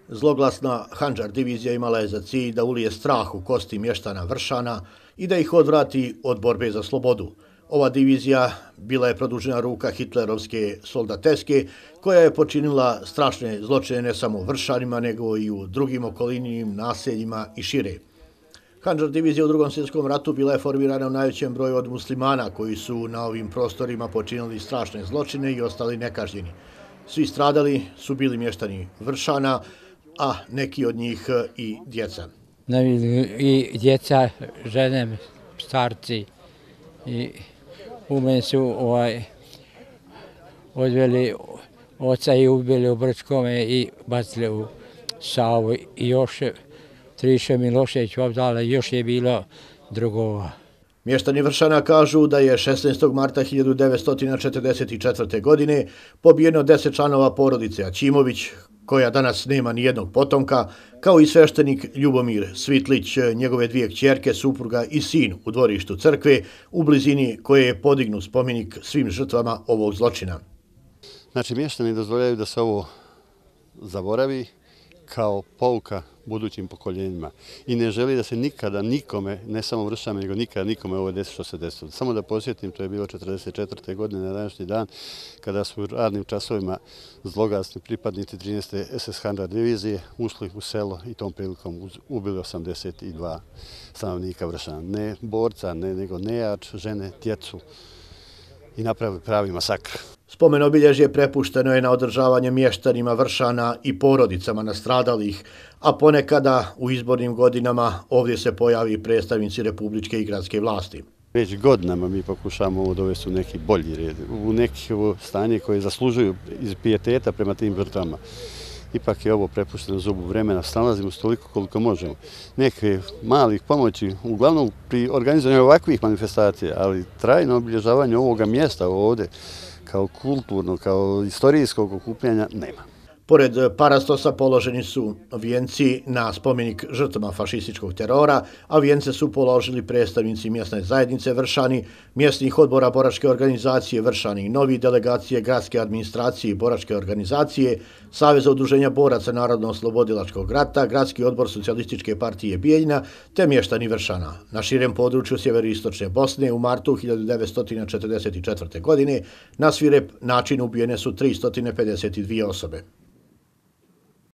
Zloglasna Handžar divizija imala je za cilj da ulije strah u kosti mještana Vršana i da ih odvrati od borbe za slobodu. Ova divizija bila je produžena ruka hitlerovske soldateske koja je počinila strašne zločine ne samo u Vršanima nego i u drugim okolininim naseljima i šire. Handžar divizija u Drugom svjetskom ratu bila je formirana u najvećem broju od muslimana koji su na ovim prostorima počinili strašne zločine i ostali nekažnjeni. Svi stradali su bili mještani Vršana, a neki od njih i djeca. I djeca, žene, starci. I u mene su odveli oca i ubili u Brčkome i bacili u Savu. I još Triše Milošević obdala, još je bilo drugova. Mještani Vršana kažu da je 16. marta 1944. godine pobijeno 10 članova porodice Aćimović, koja danas nema ni jednog potomka, kao i sveštenik Ljubomir Svitlić, njegove dvije kćerke, supruga i sin u dvorištu crkve, u blizini koje je podignut spomenik svim žrtvama ovog zločina. Znači, mještani dozvoljavaju da se ovo zaboravi kao pouka budućim pokoljenjima i ne želi da se nikada nikome, ne samo Vršanima, nego nikada nikome ovo desi što se desilo. Samo da posjetim, to je bilo 1944. godine na današnji dan, kada su u radnim časovima zloglasni pripadnici 13. SS Handžar divizije ušli u selo i tom prilikom ubili 82 stanovnika Vršana. Ne borca, nego nejač, žene, djecu i napravili pravi masakr. Spomen obilježje prepušteno je na održavanje mještanima Vršana i porodicama nastradalih, a ponekada u izbornim godinama ovdje se pojavi predstavnici republičke i gradske vlasti. Već godinama mi pokušamo ovo dovesti u neki bolji red, u neko stanje koje zaslužuju iz pijeteta prema tim žrtvama. Ipak je ovo prepušteno zubu vremena, snalazimo se toliko koliko možemo. Neke malih pomoći, uglavnom pri organizovanju ovakvih manifestacija, ali trajno obilježavanje ovoga mjesta ovdje, kao kulturno, kao istorijskog okupljanja, nema. Pored parastosa položeni su vijenci na spomenik žrtvama fašističkog terora, a vijence su položili predstavnici mjesne zajednice Vršani, mjesnih odbora boračke organizacije Vršani i Novi, delegacije gradske administracije i boračke organizacije, Saveza udruženja boraca Narodno-oslobodilačkog rata, gradski odbor Socijalističke partije Bijeljina te mještani Vršana. Na širem području sjeveroistočne Bosne u martu 1944. godine na svirep način ubijene su 352 osobe.